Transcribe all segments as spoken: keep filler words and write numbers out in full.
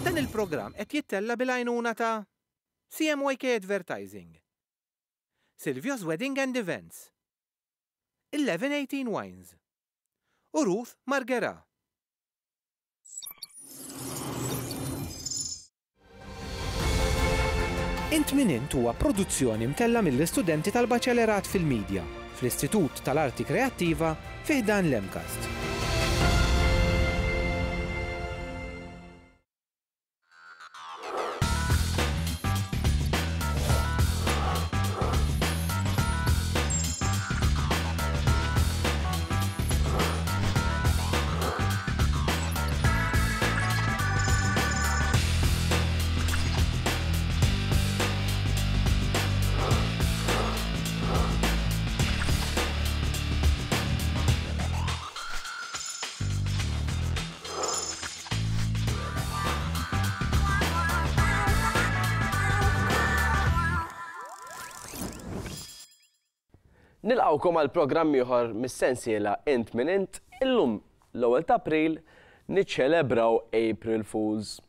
Dan il-programm qed jittella bil-għajnuna ta' C M Y K Advertising, Silvio's Wedding and Events, eleven eighteen Wines u Ruth Margera. Int Min Int huwa produzzjoni mtella mill-istudenti tal-Baċellerat fil-Media fl-Istitut tal-Arti Kreattiva fi ħdan l-MCAST. Nilqgħukom għal programm ieħor mis-sensiela Int Min Int. Illum l-ewwel ta' April niċċelebraw April Fools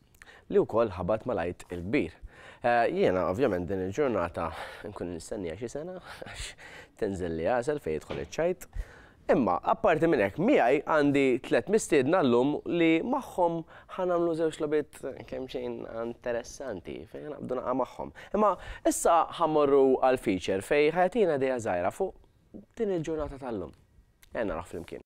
li wkoll ħabat mal-Għid il-Kbir. Eh, jiena ovvjament din il-ġurnata nkun nistennija xi sena għax tinżel li għasel fejn jidħol iċ-ċajt. Imma apparti minn hekk, miegħi għandi tliet mistiedna llum li magħhom ħa nagħmlu żewġ logħbiet kemm xejn interessanti fejn naqbdu naqa' magħhom. Imma issa ħa mmorru għal feature fejn ħa jtina idea żgħira fuq din il-ġurnata tal-lum. Ejja naraw flimkien.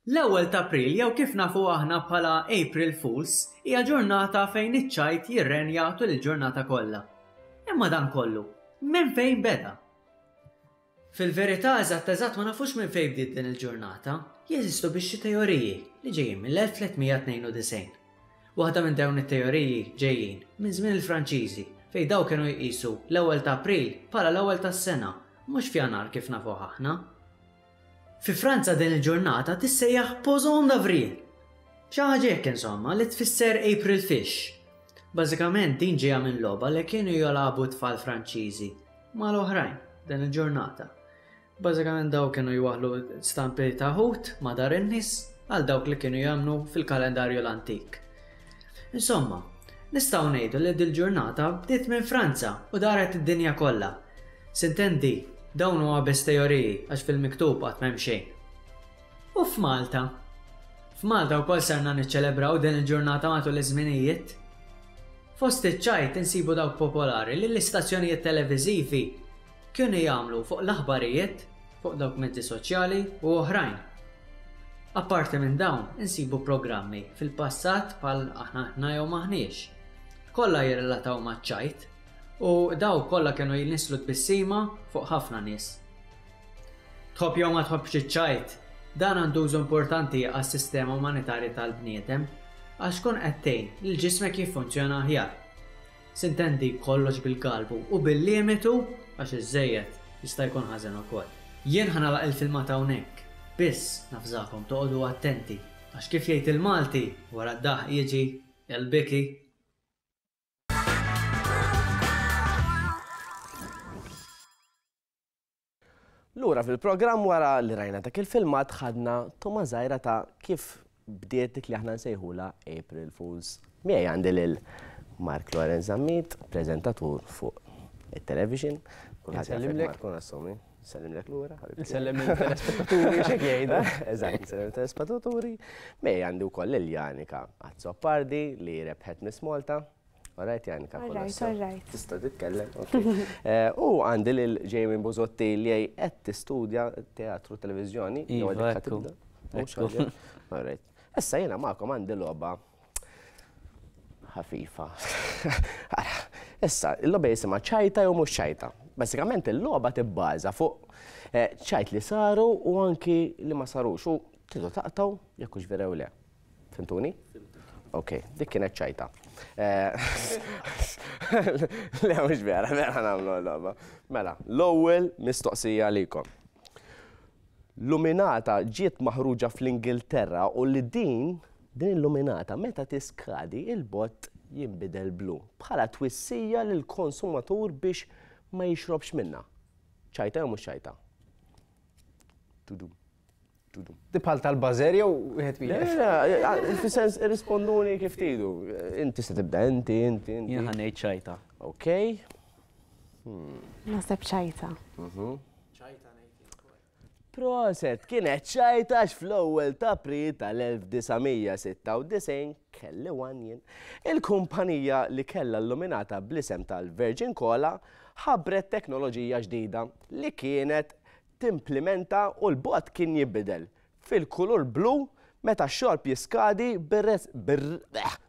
L-ewwel ta' April, jew kif nafu aħna bħala April Fools, hija ġurnata fejn iċ-ċajt jirrenja tul il-ġurnata kollha. Imma dan kollu, minn fejn beda? Fil-verità, eżatt eżatt ma nafux minn fejn bdiet din il-ġurnata. Jeżistu biex xi teoriji li ġejjin mill-elf tliet mija tnejn u disgħin. Waħda minn dawn it-teoriji ġejjin minn żmien il-Franċiżi, fejn daw kienu jqisu l-ewwel ta' April bħala l-ewwel tas-sena, mhux f'Jannar kif nafuh aħna. Fi Franza din il-ġurnata tissejjaħ Poisson d'Avril. Xi ħaġa hekk insomma, li tfisser April Fish. Bażikament din ġejja minn logħba li kienu jilagħbu tfal Franċiżi mal-oħrajn din il-ġurnata. Bażikament daw kienu jwaħlu stampi ta' ħut ma' dar in-nies għal dawk li kienu jagħmlu fil-kalendarju l-antik. Insomma, nistgħu ngħidu li dil-ġurnata bdiet minn Franza u daret id-dinja kollha. Sintendi, dawn huwa biss teoriji għax fil-miktub qatt m'hemm xejn. U f'Malta? F'Malta wkoll sarna niċċelebraw din il-ġurnata matul iż-żminijiet. Fost iċ-ċajt insibu dawk popolari li l-istazzjonijiet televiżivi kienu jagħmlu fuq l-aħbarijiet, fuq dawk mezzi soċjali u oħrajn. Apparti minn dawn, insibu programmi fil-passat bħal Aħna Aħna jew Maħniex. Kollha jirrelataw maċ-ċajt u daw kollha kienu jinisslu tbissima fuq ħafna nies. Tħobb jew ma tħobbx iċ-ċajt, dan għandu użu importanti għas-sistema umanitarju tal-bniedem għax kun qed tgħin li ġismek jiffunzjona aħjar. Sintendi, kollox bil-galbu u bil-limitu, għax iż-żejjed jista' jkun ħażen ukoll. Jien ħa nagħlaq il-filmat hawnhekk, biss navżakom toqogħdu attenti għax kif jgħid il-Malti, wara d-daħ jiġi il-biki. Lura fil-programm wara li rajna dak il-filmat, ħadna togħma żgħira ta' kif bdiet dik li aħna nsejħula April Fools. Miegħi għandi lil Mark Lorenz Zammit, preżentatur fuq il-television. Kulħadd jaf Nsellimlek. Mark, nassumi. Nsellimlek lura, ħabib. Nsellem il-telespettaturi xek jgħidu. Eżatt, nsellem il-telespettaturi. Miegħi għandi wkoll lil Janika Azzopardi li rebħet Miss Malta. Alright, Janika, Alright, kollox sew. Alright. Tista' titkellem, ok. Eh, U għandi lil Jamie Buzotti li qed tistudja teatru, televiżjoni. Jew Iva, għadek ħa ekku. tibda? Mhux Ekku. għadek? Alright. Issa jiena magħkom għandi logħba ħafifa. Ara, issa, il-logħba jisimha ċajta jew mhux ċajta. Basikament il-logħba tibbaża fuq eh, ċajt li saru u anki li ma sarux u tridu taqtaw jekk hux vera jew le. Fhimtuni? Ok, dik kienet ċajta. Eh, Le, mhux vera, vera nagħmlu l-logħba. Mela, l-ewwel mistoqsija għalikom. Luminata ġiet maħruġa fl-Ingilterra u li din din il-luminata meta tiskadi il-bott jinbidel blu bħala twissija lil konsumatur biex ma jixrobx minna. Ċajta jew mhux ċajta? Tudu. Bħal tal-bażer jew wieħed wieħed? Le, fis-sens irrisponduni kif tridu. Inti se tibda inti, inti, inti. Jien ħa ngħid ċajta. Ok. Naħseb ċajta. Proset, kienet ċajta għax fl-ewwel ta' April tal-elf disa' mija sitta u disgħin kelli one jien. Il-kumpanija li kellha illuminata bl-isem tal-Virgin Cola ħabbret teknoloġija ġdida li kienet timplementa u l-bot kien jibbidel fil-kulur blu meta x-xorb jiskadi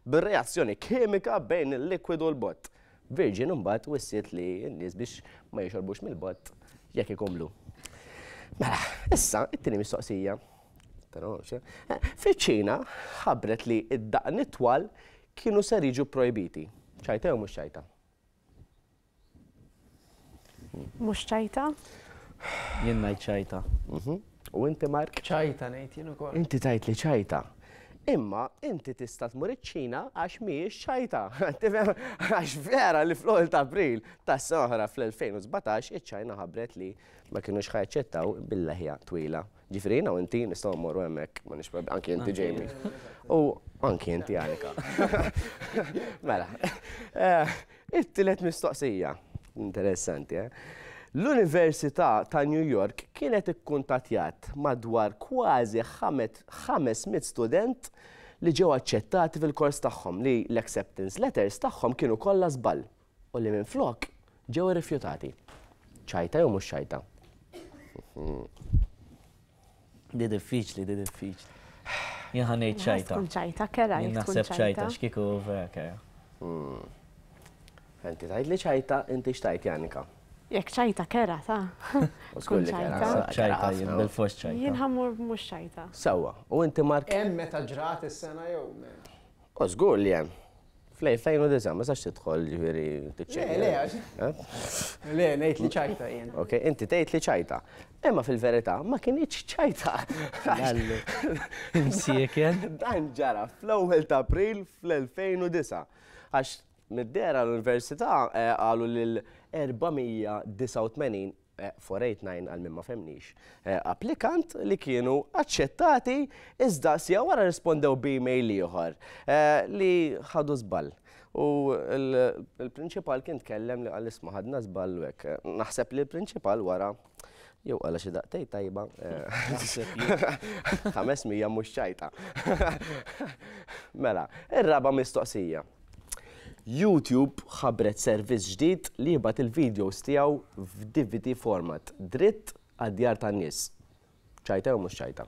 bir-reazzjoni kimika bejn il-likwidu u l-bot. Virgin imbagħad wissiet li n-nies biex ma jixorbux mill-bot jekk ikun blu. Mela, issa, it-tieni mistoqsija. Fiċ-Ċina ħabbret li id-daqn it-twal kienu ser jiġu projbiti. Ċajta jew mhux ċajta? Mhux ċajta? Jien ngħid ċajta. U inti, Mark? Ċajta ngħid jien ukoll. Inti tgħid li ċajta. Imma inti tista' tmur iċ-Ċina għax mhijiex ċajta. Tifhem? Għax vera li fl-ewwel ta' April tas-sena oħra fl-elfejn u sbatax iċ-Ċina ħabbret li ma kinux ħajaċċettaw bil-leħja twila. Ġifieri jiena u inti nistgħu mmorru hemmhekk, ma nix prob-, anki inti Jamie. U anki inti Anika. Mela, eh, it-tielet mistoqsija. Interessanti, eh? L-Università ta' New York kienet ikkuntattjat madwar kważi ħames mitt student li ġew aċċettati fil-kors tagħhom li l-acceptance letters tagħhom kienu kollha żball u li minflok ġew irrifjutati. Ċajta jew mhux ċajta? Di diffiċli, di diffiċli. Jien ħa ngħid ċajta. Tkun ċajta, kera, Jien tkun naħseb ċajta, ċajta. x'kieku vera kera. Hmm. Inti tgħid li ċajta, inti x'tgħid, Janika? Jekk ċajta kera, ta' U żgur li Tkun kera, ċajta. kera ċajta, ħafna. jien bil-fors ċajta. Jien ħammur mhux ċajta. Sewwa, u inti Mark? Hemm meta ġrat is-sena jew m'hemm? U żgur li hemm. Fl-elfejn u disa' ma sax tidħol ġifieri tiċċekkja. Le, le, għax- Eh? Le, ngħid li ċajta jien. Ok, inti tgħid li ċajta. Imma fil-verità ma kinitx ċajta. Lallu. Imsieken. Dan ġara fl-ewwel ta' April fl-elfejn u disa'. Għax mid-dera l-università, eh, qalu lil erba' mija disa' u tmenin, eh, four eight nine għal min ma femnix, eh, applikant li kienu aċċettati iżda sija wara rispondew b'email ieħor, eh, li ħadu żball. U il-, il-prinċipal kien tkellem li qal isma' ħadna żball u hekk. Naħseb li l-prinċipal wara jew qala xi daqtej tajba, eh, ħames mija mhux ċajta. Mela, ir-raba' mistoqsija. YouTube ħabbret servizz ġdid li jibgħat il-videos tiegħu f'D V D format, dritt għad-djar tan-nies. Ċajta jew mhux ċajta?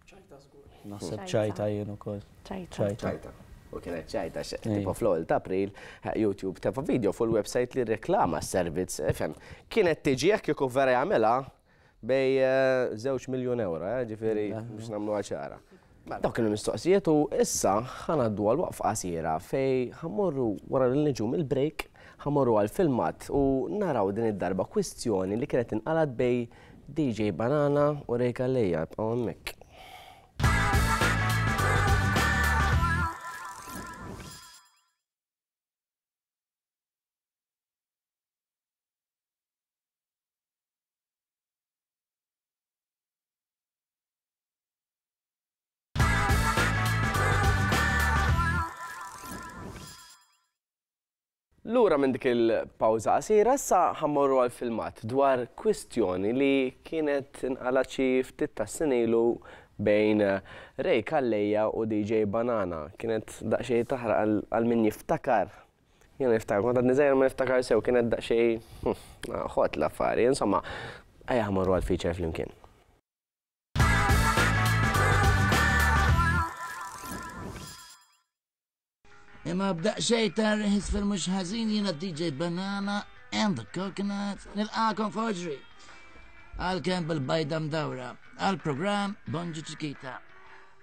Ċajta żgur. Naħseb ċajta jien ukoll. Ċajta. Ċajta. Ċajta. U kienet ċajta, xe, Ejja. tipo fl-ewwel ta' April, eh, YouTube tefa' video fuq il-website li reklama s-servizz, ifhem. Kienet tiġi jekk kieku vera jagħmilha bej, eh, żewġ miljun euro, eh, ġifieri biex nagħmluha ċara. Dawk kienu mistoqsijiet u issa ħanaddu għal waqfa qasira fej ħammorru wara li niġu mill-break, ħammorru għal filmat u naraw din id-darba kwistjoni li kienet inqalgħet bej D J Banana u Ray Calleja. Ibqgħu hemmhekk. Lura minn dik il-pawża qasira, issa ħammorru għal filmat dwar kwistjoni li kienet inqalgħet xi ftit tas-snin ilu bejn Ray Calleja u D J Banana. Kienet daqsxejn taħraq għal, għal min jiftakar. Jien niftakar, kont għadni żgħir ma niftakar sew, kienet daqsxejn, hm, ħot l-affari, insomma, ejja ħammorru għal feature flimkien. Imma b'daqsxejn ta' riħis fil-mhux ħażin jiena D J Banana and the Coconut nilqakom f'Oġri. Għalkemm bil-bajda mdawra, għall-programm Bonġu Ċikita.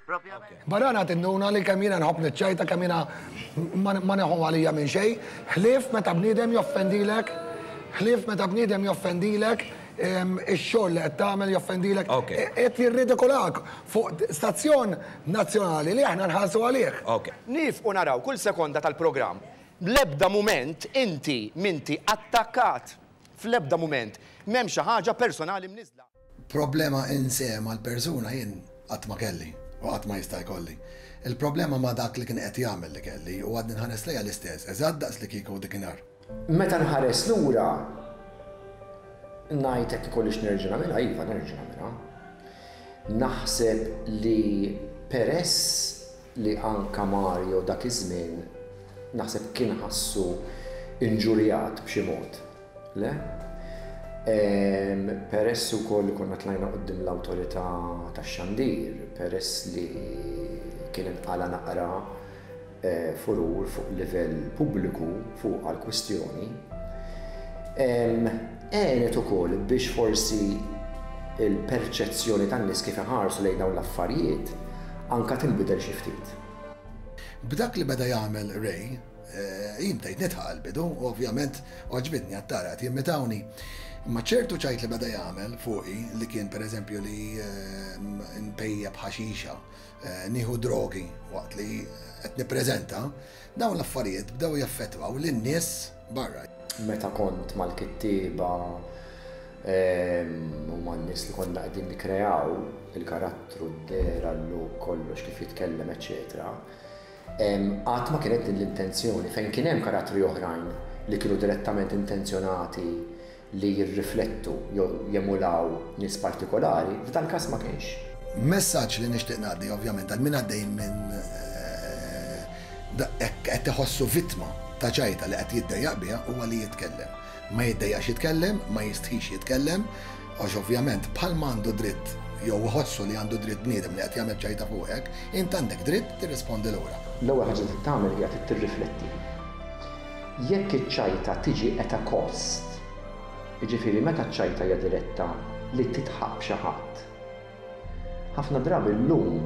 Okay. Banana tinduna li kemm jiena nħobb niċċajta, kemm jiena ma, ma neħu għalija minn xejn, ħlief meta bniedem joffendilek, ħlief meta bniedem joffendilek, em, ix-xogħol li qed tagħmel joffendilek, Okay. e-, qed jirridikolak fuq stazzjon nazzjonali li aħna nħallsu għalih. Okay. Nifqu naraw kull sekonda tal-programm. L-ebda mument inti minti attakkat. Fl-ebda mument m'hemm xi ħaġa personali mniżla. Problema in se mal-persuna jien qatt ma kelli u qatt ma jista' jkolli. Il-problema ma dak li kien qed jagħmel li kelli u għadni nħares lejha l-istess, eżatt daqs li kieku dikinhar. Meta nħares lura ngħid hekk ikollix nerġa' nagħmilha, iva nerġa' nagħmilha. Naħseb li peress li anka Mario dak iż-żmien naħseb kien ħassu inġurjat b'xi mod. Le? Peress ukoll li konna tlajna quddiem l-awtorità tax-xandir, peress li kien inqala naqra furur fuq livell pubbliku fuq għal-kwistjoni, għenet ukoll biex forsi il-perċezzjoni tan-nies kif iħarsu lejn dawn l-affarijiet anka tinbidel xi ftit. B'dak li beda jagħmel Ray, jien bdejt nidħaq għall-bidu, u ovvjament għoġbitni għat-tara qed jimmitawni. Imma ċertu ċajt li beda jagħmel fuqi li kien pereżempju li npejjeb ħaxixa, nieħu drogi waqt li qed nippreżenta, dawn l-affarijiet bdew jaffettwaw lin-nies barra. Meta kont mal-kittieba u man-nies li konna qegħdin nikkreaw il-karattru, d-dehra, l-look, kollox kif jitkellem, eċetera. Qatt ma kienet din l-intenzjoni, fejn kien hemm karattri oħrajn li kienu direttament intenzjonati li jirriflettu jew jemulaw nies partikolari, f'dan każ ma kienx. Messaġġ li nixtieq ngħaddi ovvjament għal min għaddej minn qed iħossu vittma ta' ċajta li qed jiddejjaq biha huwa li jitkellem. Ma jiddejjaqx jitkellem, ma jistħix jitkellem, għax ovvjament bħalma għandu dritt jew iħossu li għandu dritt bniedem li qed jagħmel ċajta fuqek, int għandek dritt tirrispondi lura. L-ewwel ħaġa li tagħmel hija tirrifletti. Jekk iċ-ċajta tiġi at a cost, jiġifieri meta ċ-ċajta hija diretta li titħaq b'xi ħadd. Ħafna drabi llum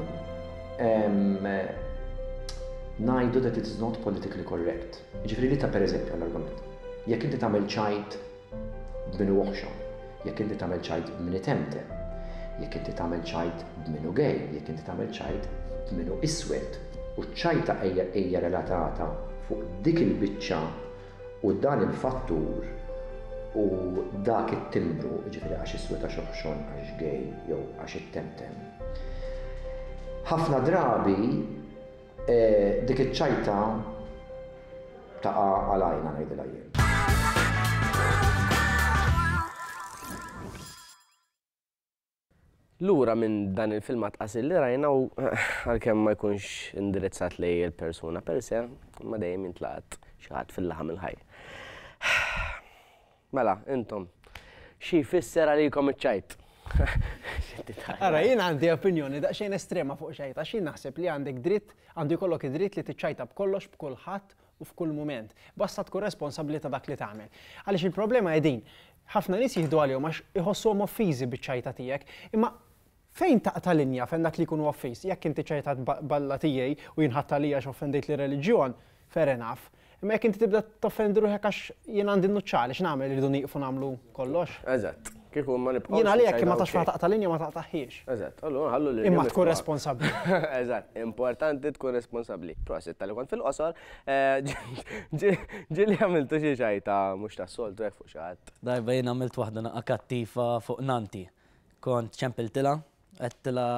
ngħidu that it is not politically correct. Jiġifieri li ta' pereżempju għall-argument. Jekk inti tagħmel ċajt b'minu oħxon, jekk inti tagħmel ċajt b'min itemtem, jekk inti tagħmel ċajt b'minu gay, jekk inti tagħmel ċajt b'minu iswed, u ċ-ċajta hija relatata fuq dik il-biċċa u dan il-fattur u dak it-timbru, ġifieri għax iswed, għax oħxon, għax gay jew għax ittemtem. Ħafna drabi dik iċ-ċajta taqa' għalajna ngħidilha jien. Lura minn dan il-filmat qasir li rajna u għalkemm ma jkunx indirizzat lej il-persuna per se, ma dejjem jintlaqat xi ħadd fil-laħam il-ħaj. Mela, intom, xi jfisser għalikom iċ-ċajt? Ara, jien għandi opinjoni daqsxejn estrema fuq ċajta, għax jien naħseb li għandek dritt, għandu jkollok id-dritt li tiċċajta b'kollox, b'kulħadd u f'kull mument. Basta tkun responsabbli ta' dak li tagħmel. Għaliex il-problema hi din, ħafna nies jieħdu għalihom għax iħossuhom offiżi biċ-ċajta tiegħek, imma fejn taqta' linja fejn dak li jkunu offiż? Jekk inti ċajta balla tiegħi u jinħadd għalija għax offendejt li reliġjon, fair enough. Imma jekk inti tibda toffendi ruħek għax jien għandi n-nuċċali, x'nagħmel, irridu nieqfu nagħmlu kollox? Eżatt. Kieku ma nibqgħux. Jien għalija jekk ma tafx ma taqta' linja ma taqtaħiex. Eżatt, allura ħallu lil Imma tkun responsabbli. Eżatt, importanti tkun responsabbli. Prosit tal-li kont fil-qosor, ġieli għamiltu xi ċajta mhux tas-soltu hekk fuq xi ħadd. Darba jien għamilt waħda naqa' kattiva fuq nanti. Kont ċempiltilha, għedtilha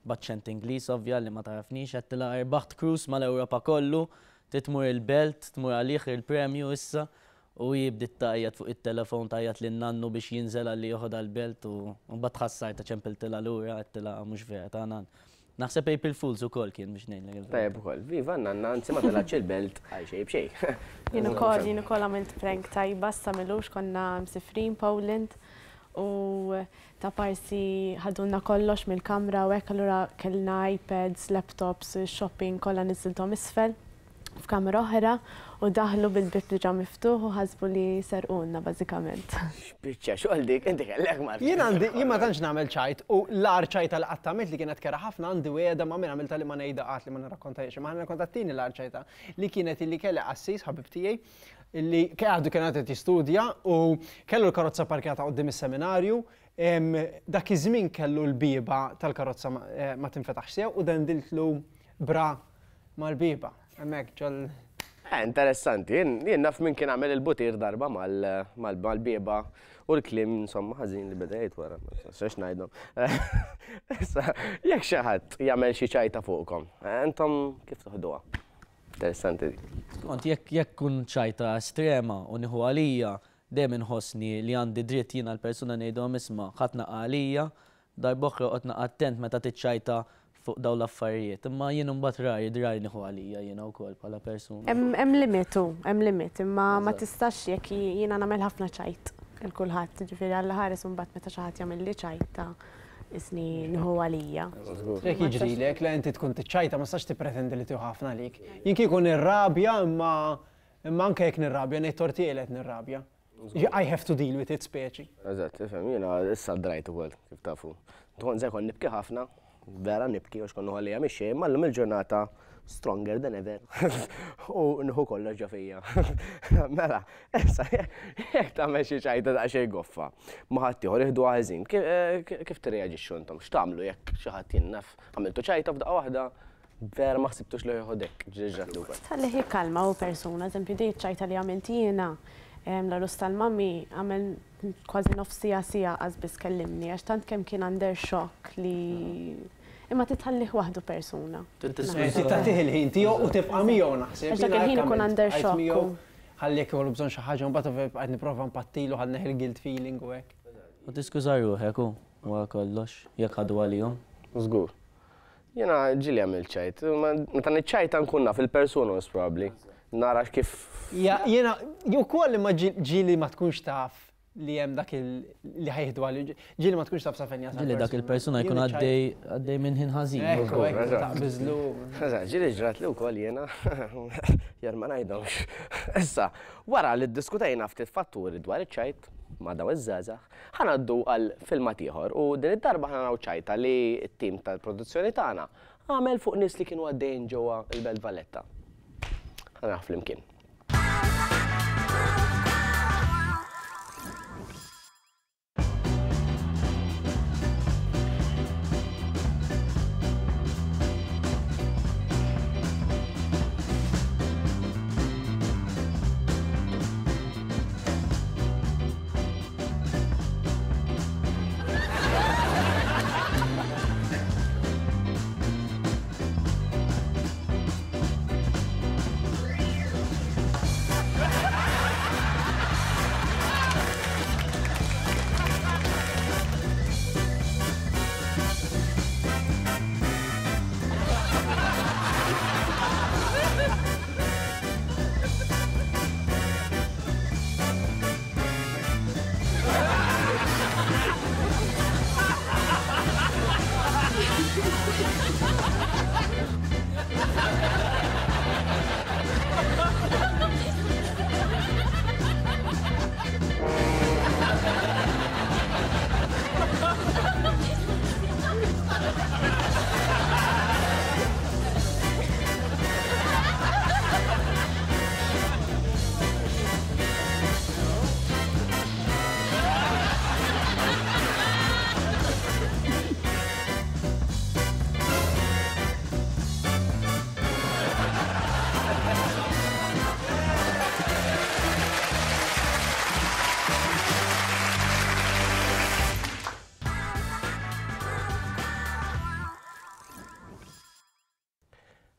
b'aċċent Ingliż ovvja li ma tarafnix, għedtilha rbaħt cruise mal-Ewropa kollu, titmur il-belt, tmur għalih il-premju issa, u jibdiet tgħajjat fuq it-telefon, tgħajjat lil nannu biex jinżel għalli joħodha l-belt u mbagħad tħassarta ċempiltilha lura, għedtilha mhux vera ta' nan. Naħseb April Fools ukoll kien biex ngħidlek il-verità. Tajjeb ukoll, viva nanna, anzi ma telgħatx il-belt għal xejn b'xejn. Jien ukoll, jien ukoll għamilt prank tajba sa m'ilux, konna msifrin Poland u ta' parsi ħadulna kollox mill-kamra u hekk, allura kellna iPads, laptops, shopping, kollha niżilthom isfel f'kamra oħra u daħlu bil-bib diġà miftuħ u ħasbu li serqulna bażikament. X'biċċa xogħol dik, inti kellek Mark. Jien għandi, jien ma tantx nagħmel ċajt u l-agħar ċajta li qatt għamilt li kienet kera ħafna għandi wegħda ma' min għamilta li ma ngħidha qatt li ma nirrakkontajiex, imma ħa nirrakkonta t-tieni l-agħar ċajta li kienet illi kelli qassis ħabib tiegħi illi għadu kien qed jistudja u kellu l-karozza parkjata quddiem is-seminarju. Dak iż-żmien kellu l-bieba tal-karozza ma tinfetaħx sew u dendiltlu bra mal-bieba. Hemmhekk ġol Eh, interessanti, jien naf min kien għamel il-butir darba mal-bieba u l-kliem insomma ħażin li beda jgħid wara, x'għax ngħidhom. Issa, jekk xi ħadd jagħmel xi ċajta fuqkom, intom kif toħduha? Interessanti. Skont, jekk jekk kun ċajta estrema u nieħu għalija, dejjem inħossni li għandi dritt jiena l-persuna ngħidhom isma' ħadd naqa' għalija, darb'oħra oqgħod naqa' attent meta tiċċajta fuq dawn l-affarijiet, imma jien imbagħad rari drari nieħu għalija jiena wkoll bħala persuna. Hemm limitu, hemm limit, imma ma tistax jekk jiena nagħmel ħafna ċajt il kulħadd, ġifieri Alla ħares imbagħad meta xi ħadd jagħmilli ċajta isni nieħu għalija. Jekk jiġrilek li inti tkun tiċċajta ma tistax tippretendi li tieħu ħafna għalik. Jien kieku nirrabja imma imma anke jekk nirrabja ngħid tortiel qed nirrabja. I have to deal with it speċi. Eżatt, ifhem, jiena issa drajt ukoll kif tafu. Tkun se jkun nibki ħafna, vera nibki għax konnu għalija mixi, imma llum il-ġurnata stronger than ever. U nħu kollox ġo fija. Mela, issa jekk tagħmel xi ċajta daqsxejn goffa, ma ħadd ieħor jieħdu ħażin, kif tirreaġixxu intom? X'tagħmlu jekk xi ħadd jinnaf għamiltu ċajta f'daqqa waħda, vera ma ħsibtux li jieħodek, ġiġġat li wkoll. Tħallih jikkalma u persuna, eżempju di ċajta li għamilt jiena, l-arus tal-mami għamel kważi nofs siegħa siegħa qas biss kellimni, għax tant kemm kien under shock li imma titħallih waħdu persuna. Tagħtih il-ħin tiegħu u tibqa' miegħu naħseb. Għax dak il-ħin ikun under shock. Ħalli jekk ikollu bżonn xi ħaġa mbagħad qed nipprova npattilu ħalli neħi l-guilt feeling u hekk. U tiskuża ruħek hu wara kollox jekk ħadu għalihom. Żgur. Jiena ġieli għamilt ċajt, meta niċċajta nkun naf il-persuna most probably. Nara kif. Jiena wkoll imma ġieli ma tkunx taf li hemm dak li ħajħdu għal ġieli ma tkunx taf sa fejn jasal. Ġieli dak il-persuna jkun għaddej għaddej minn ħin ħażin. Ekku, ekku, taqbiżlu. Eżatt, ġieli ġrat li wkoll jiena jar ma ngħidhomx. Issa, wara li ddiskutejna ftit fatturi dwar iċ-ċajt ma' dawn iż-żgħażagħ, ħa ngħaddu għal filmat ieħor u din id-darba ħa naraw ċajta li t-tim tal-produzzjoni tagħna għamel fuq nies li kienu għaddejjin ġewwa l-Belt Valletta. Ħa naraw flimkien.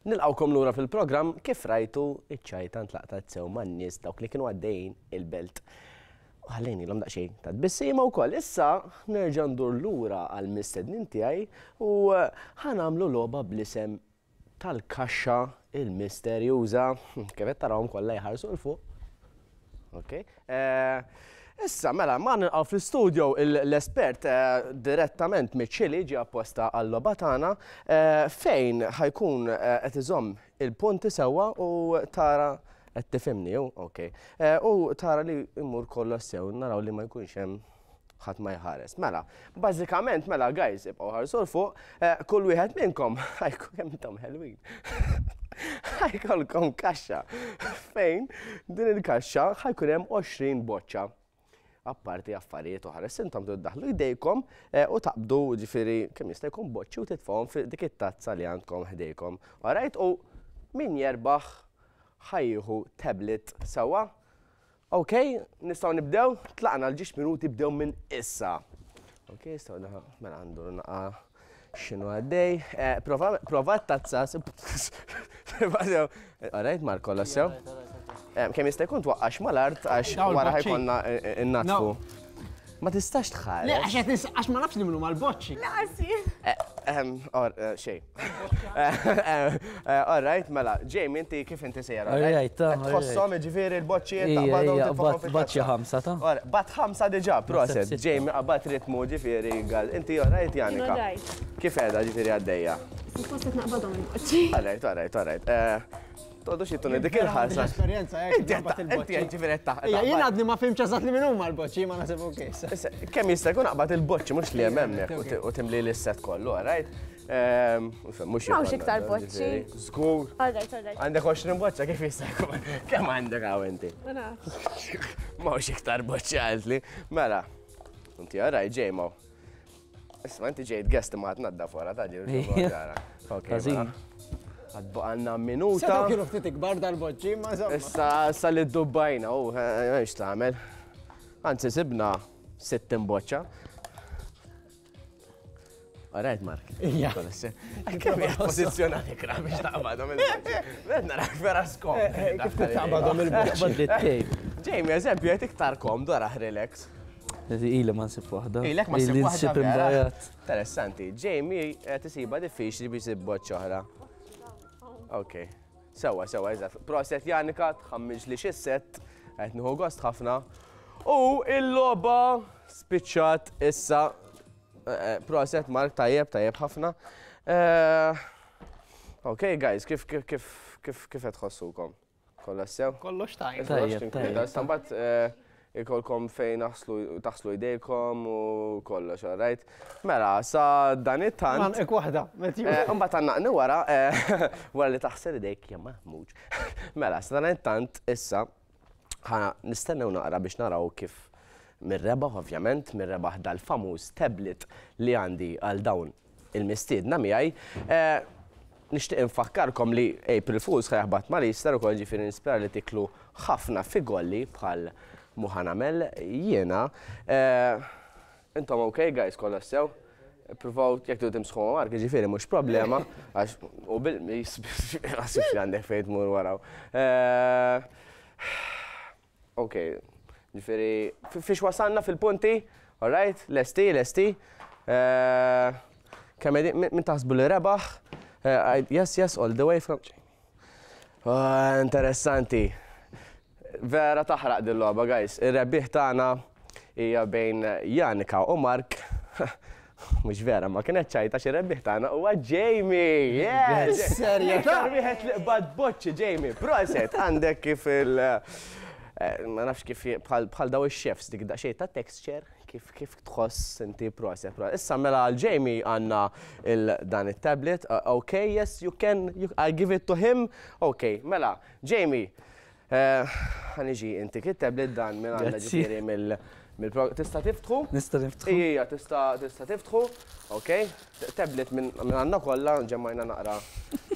Nilqawkom lura fil-programm kif rajtu iċ-ċajta ntlaqtat sew man-nies dawk li kienu għaddejjin il-belt. U ħallejnilhom daqsxejn ta' tbissima wkoll. Issa nerġa' ndur lura għall-mistednin tiegħi u ħa nagħmlu logħba bl-isem tal-kaxxa il-misterjuża. Kif qed tarawhom kollha jħarsu 'l fuq. Ok. Issa, mela, ma nilqgħu fl-studio l-espert direttament miċ-Ċili ġie apposta għall-logħba tagħna fejn ħajkun qed iżomm il-punti sewwa u tara qed tifhimni, ok. U tara li jmur kollox sew, naraw li ma jkunx hemm ħadd ma jħares. Mela, bażikament, mela, guys, ibqgħu ħarsu 'l fuq, kull wieħed minnkom ħajkun kemm intom ħelwin. Ħajkolkom kaxxa fejn din il-kaxxa ħajkun hemm għoxrin boċċa. Apparti affarijiet oħra, intom tiddaħlu jdejkom u taqbdu ġifieri kemm jista' jkun boċċi u titfgħuhom fi dik it-tazza li għandkom ħdejkom. Alright, u min jerbaħ ħa jieħu tablet sewwa. Ok, nistgħu nibdew, tlaqna l-ġiex minuti bdew minn issa. Ok, nistgħu naħa, mela għandu naqa x'inhu għaddej. Eh, prova, prova tazza. Alright, Mark, kollox sew. Eh, kemm jista' jkun twaqqax mal-art għax wara ħa jkollna nnaddfu. Ma tistax tħares. Le, għax qed nis- għax ma nafx li minnu mal-boċċi. Ehm, or, eh, xej. All right, mela, Jamie, inti kif inti sejra? All right, ta' Qed tħosshom ġifieri l-boċċi Ija, taqbadhom ija, titfagħhom bat- bat xi fil-kassa. ħamsa ta' Ora, Bat ħamsa diġà, proset. sitta. Jamie qabad ritmu ġifieri għal. Inti all right, Janika? All right. Kif qiegħda ġifieri għaddejja? Suppost qed naqbadhom il-boċċi. All right, all right, all right. Eh, Toqgħodux jittuni dik il-ħarsa. Esperjenza hekk. Inti qed inti qed ġifieri qed taħ- Ija, jien għadni ma fhimtx eżatt li minn huma l-boċċi, ma naħseb ok. issa. Issa, kemm jista' jkun aqbad il-boċċi mhux li hemm hemmhekk u ti- u timli l-set kollu, all right? Ehm, Mhux M'hawnx jkollna, iktar boċċi. ġifieri. Żgur. All right, all right. Għandek għoxrin boċċa kif jista' jkun? Kemm għandek hawn inti? Ma nafx. M'hawnx iktar boċċi għaltli. Mela, inti all right, Ġejmo. Isma' inti ġejt guest ma tnaddaf wara ta' ġiru. Ija. Ok, Ħażin. mela. Għad baqgħalna minuta. Setgħu kienu ftit ikbar dal-boċċi, ma insomma. Issa, issa li d-dubbajna, u, għax tagħmel. Anzi, sibna sittin boċċa. All right, Mark. Ija. Kemm hija pożizzjonati kra biex taqbadhom il-boċċi. Ved narak vera skom. Eh, eh, Kif kif taqbadhom il-boċċi? Qabad li tape. Jamie, eżempju, qed iktar komdu araħ relax. Ili ma nsib waħda. Ilek ma ssib Ili waħda nsib vera. imbrajat. Interessanti. Jamie qed isiba diffiċli biex isib boċċa oħra. Ok. Sewwa, sewwa, eżatt. Proset Janika, tħammiġ li xis-set, qed nieħu gost ħafna. U il-logħba spiċċat issa. Eh, eh, Proset Mark, tajjeb, tajjeb ħafna. Eh, Ok, guys, kif kif kif kif kif qed tħossukom? Kollox sew? Kollox tajjeb. Tajjeb, tajjeb. Issa mbagħad eh, ikolkom fejn naħslu taħslu jdejkom u kollox, all right? Mela, sa dan it-tant. Man, ek waħda, Matthew. Eh, Mbagħad għandna wara, eh, wara li taħsel idejk ja maħmuġ. Mela, sa dan it-tant issa ħa nistennew naqra biex naraw kif mir-rebaħ ovvjament, mir-rebaħ dal-famuż tablet li għandi għal dawn il-mistiedna miegħi. Eh, Nixtieq infakkarkom li April Fools ħa jaħbat mal-Easter ukoll ġifieri nispera li tiklu ħafna figolli bħal mhu ħa nagħmel jiena. Eh, Intom ok guys, kollox sew? Provaw jekk tridu timsħu ma' Mark, ġifieri mhux problema, għax u bil-mis għasif li għandek fejn tmur waraw. Eh, Ok, ġifieri fi- fiex wasalna fil-punti, all right, lesti, lesti. Eh, Kemm qegħdin- min min taħsbu li rebaħ? Eh, I- Yes, yes, all the way from. Ah, interessanti. Vera taħraq din logħba guys. Ir-rebbieħ tagħna hija bejn Janika u Mark. Mhux vera, ma kienet ċajta xi rebbieħ tagħna huwa Jamie. Yes! Serjetà? Iktar wieħed li qbad boċċi Jamie. Proset, għandek kif il- eh, ma nafx kif bħal bħal daw ix-chefs dik daqsxejn ta' texture kif kif tħoss inti proset. proset. Issa mela għal Jamie għandna il dan it-tablet. Uh, okay, yes, you can, you, I give it to him. Okay, mela, Jamie, eh, ħa niġi intik it-tablet dan minn għandna Grazzi. ġifieri mill mill tista' tiftħu? Nista' niftħu. Ija, tista' tista' tiftħu. Ok, tablet minn minn għandna kollha ġemmajna naqra.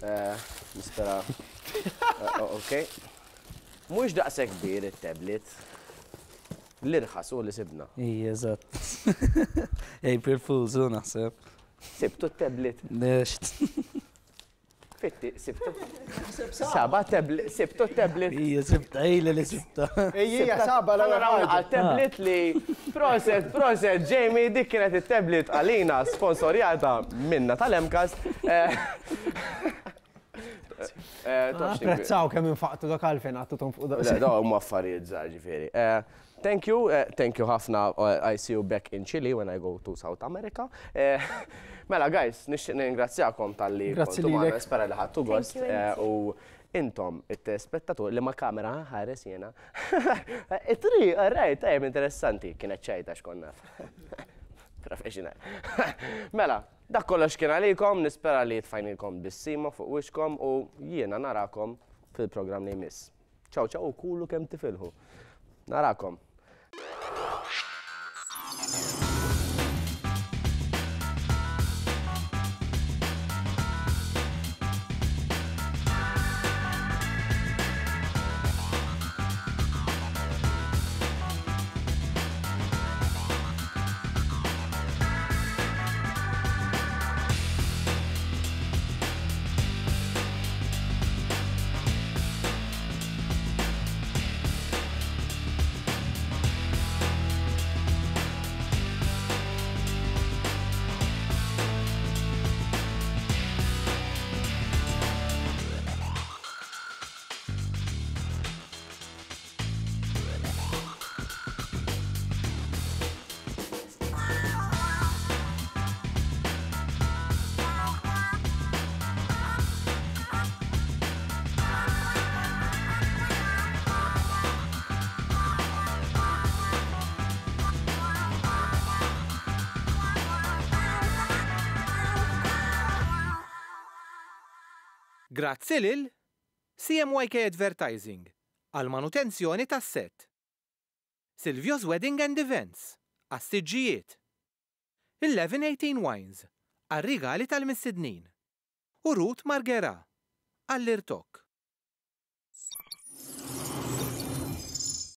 eh, Nispera. Eh, Ok. Mhux daqshekk kbir it-tablet. L-irħas u li sibna. Ija, eżatt. April Fools, u naħseb. Sibtu t-tablet. Next. Fitti, sibtu. Saba tablet, sibtu t-tablet. Ija, sibta, ejla li sibta. Ejja, saba l Naraw ħaġa. tablet li proset, proset, Jamie, dik kienet it-tablet għalina sponsorjata minna tal-MCAST. Eh, eh, tox ninkwita. Apprezzaw kemm infaqtu dak għalfejn għattu fuq Le, daqshekk. daw huma affarijiet żgħar ġifieri. Eh, Thank you, eh, thank you ħafna. eh, I see you back in Chile when I go to South America. Eh, Mela, guys, nixtieq ningrazzjakom talli Grazzi kontu magħna, lilek. nispera li ħadtu gost. you, eh, U intom, it-spettatur, li ma kamera ħares jena. It-tri, all right, tajjeb, interessanti, kienet ċajta x'konna. Professional. Mela, dak kollox kien għalikom, nispera li tfajnilkom tbissima fuq wiċċkom u jiena narakom fil-programm li jmiss. Ciao, ciao, u kulu kemm tifilħu. Narakom. Grazzi lil C M Y K Advertising għal manutenzjoni tas-set. Silvio's Wedding and Events għas-siġġijiet. eleven eighteen Wines għal rigali tal-mistednin. U Ruth Margera għall-irtokk.